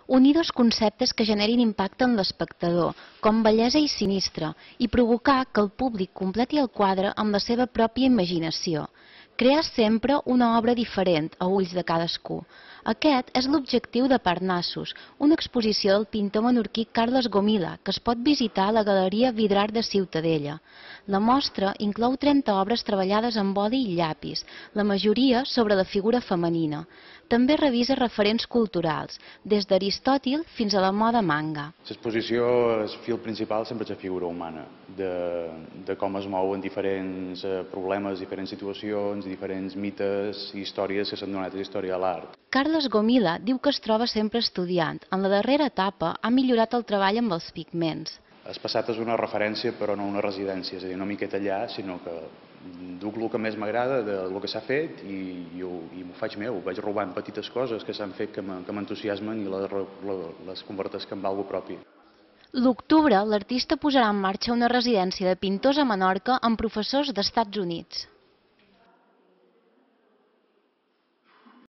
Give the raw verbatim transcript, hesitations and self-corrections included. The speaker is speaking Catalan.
Unir dos conceptes que generin impacte en l'espectador, com bellesa i sinistre, i provocar que el públic completi el quadre amb la seva pròpia imaginació. Crear sempre una obra diferent a ulls de cadascú. Aquest és l'objectiu de Parnassus, una exposició del pintor menorquí Carles Gomila, que es pot visitar a la Galeria Vidrar de Ciutadella. La mostra inclou trenta obres treballades amb oli i llapis, la majoria sobre la figura femenina. També revisa referents culturals, des d'Aristòtil fins a la moda manga. L'exposició, el fil principal sempre és la figura humana, de, de com es mouen diferents problemes, diferents situacions, diferents mites i històries que s'han donat a la història de l'art. Carles Gomila diu que es troba sempre estudiant. En la darrera etapa ha millorat el treball amb els pigments. El passat és una referència però no una residència, és a dir, no m'hi quedo allà, sinó que duc el que més m'agrada del que s'ha fet i, i, i m'ho faig meu, vaig robant petites coses que s'han fet que m'entusiasmen i les, les convertesc en algo propi. L'octubre, l'artista posarà en marxa una residència de pintors a Menorca amb professors d'Estats Units.